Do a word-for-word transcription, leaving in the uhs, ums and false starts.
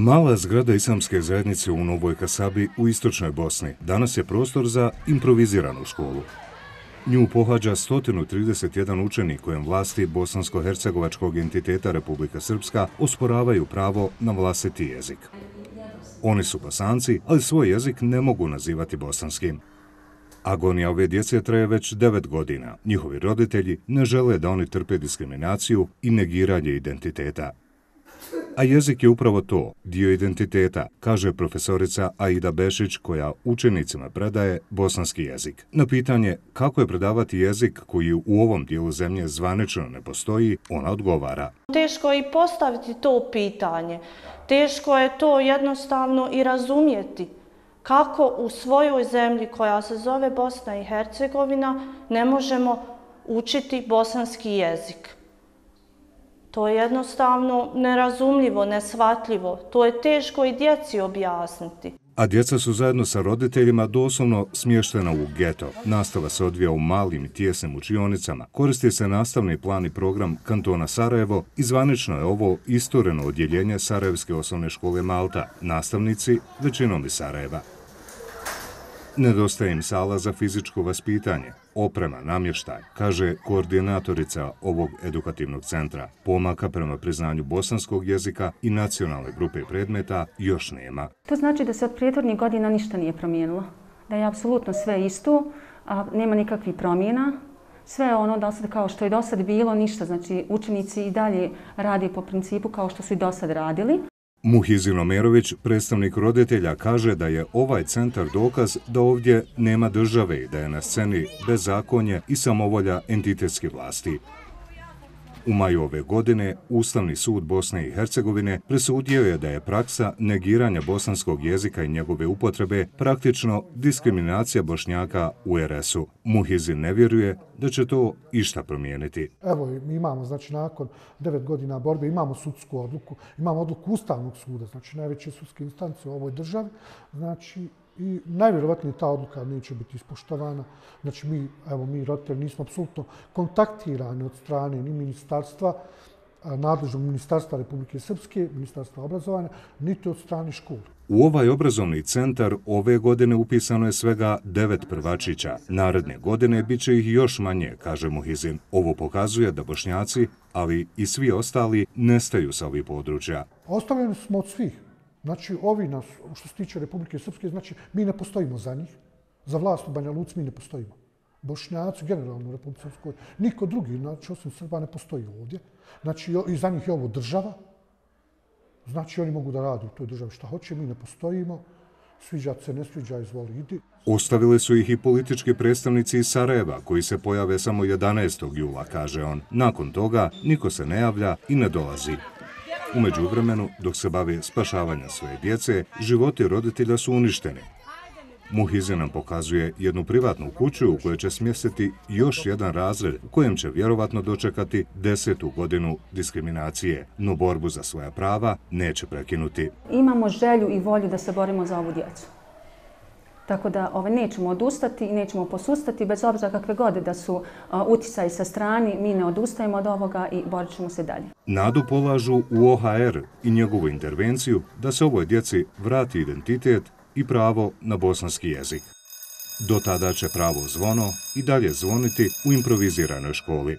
Mala zgrada islamske zajednice u Novoj Kasabi u istočnoj Bosni danas je prostor za improviziranu školu. Nju pohađa sto trideset jedan učenik kojem vlasti bosansko-hercegovačkog entiteta Republika Srpska osporavaju pravo na vlastiti jezik. Oni su Bosanci, ali svoj jezik ne mogu nazivati bosanskim. Agonija ove djece traje već devet godina. Njihovi roditelji ne žele da oni trpe diskriminaciju i negiranje identiteta. A jezik je upravo to, dio identiteta, kaže profesorica Aida Bešić koja učenicima predaje bosanski jezik. Na pitanje kako je predavati jezik koji u ovom dijelu zemlje zvanično ne postoji, ona odgovara. Teško je i postaviti to pitanje. Teško je to jednostavno i razumjeti. Kako u svojoj zemlji koja se zove Bosna i Hercegovina ne možemo učiti bosanski jezik. To je jednostavno nerazumljivo, neshvatljivo. To je teško i djeci objasniti. A djeca su zajedno sa roditeljima doslovno smještena u geto. Nastava se odvija u malim i tijesnim učionicama. Koristi se nastavni plan i program kantona Sarajevo i zvanično je ovo istureno odjeljenje Sarajevske osnovne škole Malta. Nastavnici većinom iz Sarajeva. Nedostaje im sala za fizičko vaspitanje, oprema, namještaj, kaže koordinatorica ovog edukativnog centra. Pomaka prema priznanju bosanskog jezika i nacionalne grupe predmeta još nema. To znači da se od prethodnih godina ništa nije promijenilo. Da je apsolutno sve isto, a nema nikakvih promjena. Sve je ono do sad kao što je do sad bilo, ništa. Znači učenici i dalje rade po principu kao što su i do sad radili. Muhizin Omerović, predstavnik roditelja, kaže da je ovaj centar dokaz da ovdje nema države i da je na sceni bezakonje i samovolja entitetske vlasti. U maju ove godine Ustavni sud Bosne i Hercegovine presudio je da je praksa negiranja bosanskog jezika i njegove upotrebe praktično diskriminacija Bošnjaka u er es u. Muhizin ne vjeruje da će to išta promijeniti. Evo, mi imamo, znači, nakon devet godina borbe, imamo sudsku odluku, imamo odluku Ustavnog suda, znači najveće sudske instance u ovoj državi, znači i najvjerovatnije ta odluka neće biti ispoštovana. Znači mi, evo mi roditelji nismo apsolutno kontaktirani od strane ni ministarstva, nadležnog ministarstva Republike Srpske, ministarstva obrazovanja, niti od strane škole. U ovaj obrazovni centar ove godine upisano je svega devet prvačića. Naredne godine bit će ih još manje, kaže Muhizin. Ovo pokazuje da Bošnjaci, ali i svi ostali, nestaju sa ovih područja. Ostavljeni smo od svih. Znači, ovi nas, što se tiče Republike Srpske, znači, mi ne postojimo za njih. Za vlast u Banja Luci mi ne postojimo. Bošnjaci, generalno u Republike Srpskoj, niko drugi, znači, osim Srba, ne postoji ovdje. Znači, i za njih je ovo država. Znači, oni mogu da rade u toj državi šta hoće, mi ne postojimo. Sviđa se, ne sviđa, izvoli, idi. Ostavili su ih i politički predstavnici iz Sarajeva, koji se pojave samo jedanaestog jula, kaže on. Nakon toga, niko se ne javlja i ne dolazi. U međuvremenu, dok se bave spašavanja svoje djece, životi roditelja su uništeni. Muhizin nam pokazuje jednu privatnu kuću u kojoj će smjestiti još jedan razred u kojem će vjerovatno dočekati desetu godinu diskriminacije, no borbu za svoja prava neće prekinuti. Imamo želju i volju da se borimo za ovu djecu. Tako da ovaj, nećemo odustati i nećemo posustati, bez obzira kakve god da su uh, uticaji sa strani, mi ne odustajemo od ovoga i borit ćemo se dalje. Nadu polažu u o ha er i njegovu intervenciju da se ovoj djeci vrati identitet i pravo na bosanski jezik. Do tada će pravo zvono i dalje zvoniti u improviziranoj školi.